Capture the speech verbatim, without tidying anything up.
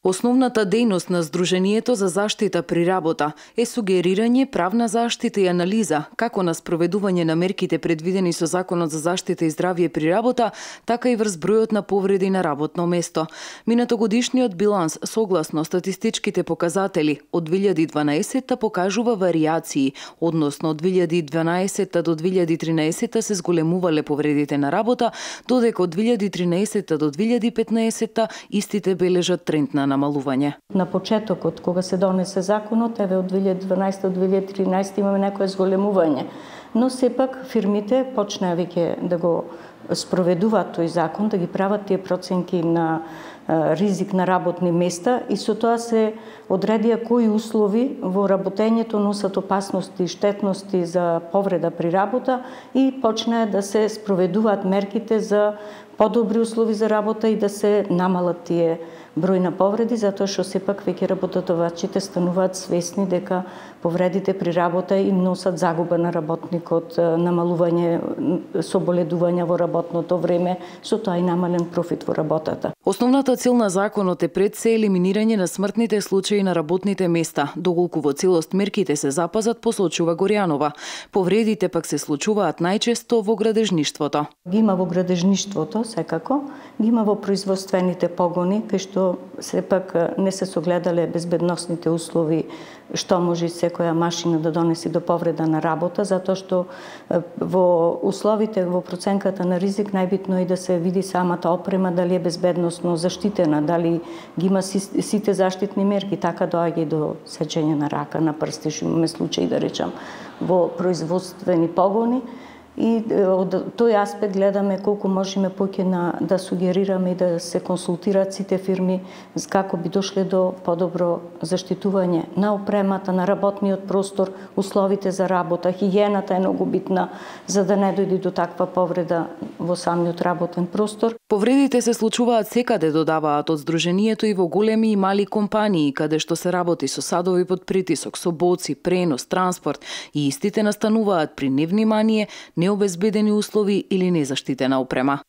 Основната дејност на Сдруженијето за заштита при работа е сугерирање, правна заштита и анализа, како на спроведување на мерките предвидени со Законот за заштита и здравје при работа, така и врз бројот на повреди на работно место. Минатогодишниот биланс, согласно статистичките показатели, од две илјади и дванаесетта покажува варијации, односно од две илјади и дванаесетта до две илјади и тринаесетта се зголемувале повредите на работа, додека од две илјади и тринаесетта до две илјади и петнаесетта истите бележат тренд на намалување. На почетокот, кога се донесе законот, еве од две илјади и дванаесетта до две илјади и тринаесетта имаме некое зголемување. Но сепак фирмите почнаа веќе да го спроведуваат тој закон, да ги прават тие проценки на ризик на работни места и со тоа се одредија кои услови во работењето носат опасности и штетности за повреда при работа и почнаа да се спроведуваат мерките за подобри услови за работа и да се намалат тие број на повреди, затоа што сепак веќе работодавачите стануваат свесни дека повредите при работа им носат загуба на работникот, намалување соболедувања во работното време, со тоа и намален профит во работата. Основната цел на законот е пред се елиминирање на смртните случаи на работните места, доколку во целост мерките се запазат, посочува Горјанова. Повредите пак се случуваат најчесто во градежништвото. Ги има во градежништвото, секако, ги има во производствените погони, кај што сепак не се согледале безбедносните услови, што може секоја машина да донеси до повреда на работа, затоа што во условите, во проценката на ризик најбитно е да се види самата опрема дали е безбедносно заштитена, дали ги има сите заштитни мерки, така доаѓа и до сечење на рака, на прсти, што имаме случаи да речам во производствени погони. И од тој аспект гледаме колку можеме поќе на да сугерираме и да се консултираат сите фирми како би дошле до подобро заштитување на опремата, на работниот простор, условите за работа, хигиената е многу битна за да не дојде до таква повреда во самиот работен простор. Повредите се случуваат секаде, додаваат од Сдруженијето, и во големи и мали компании, каде што се работи со садови под притисок, со боци, пренос, транспорт, и истите настануваат при невнимание, необезбедени услови или незаштитена опрема.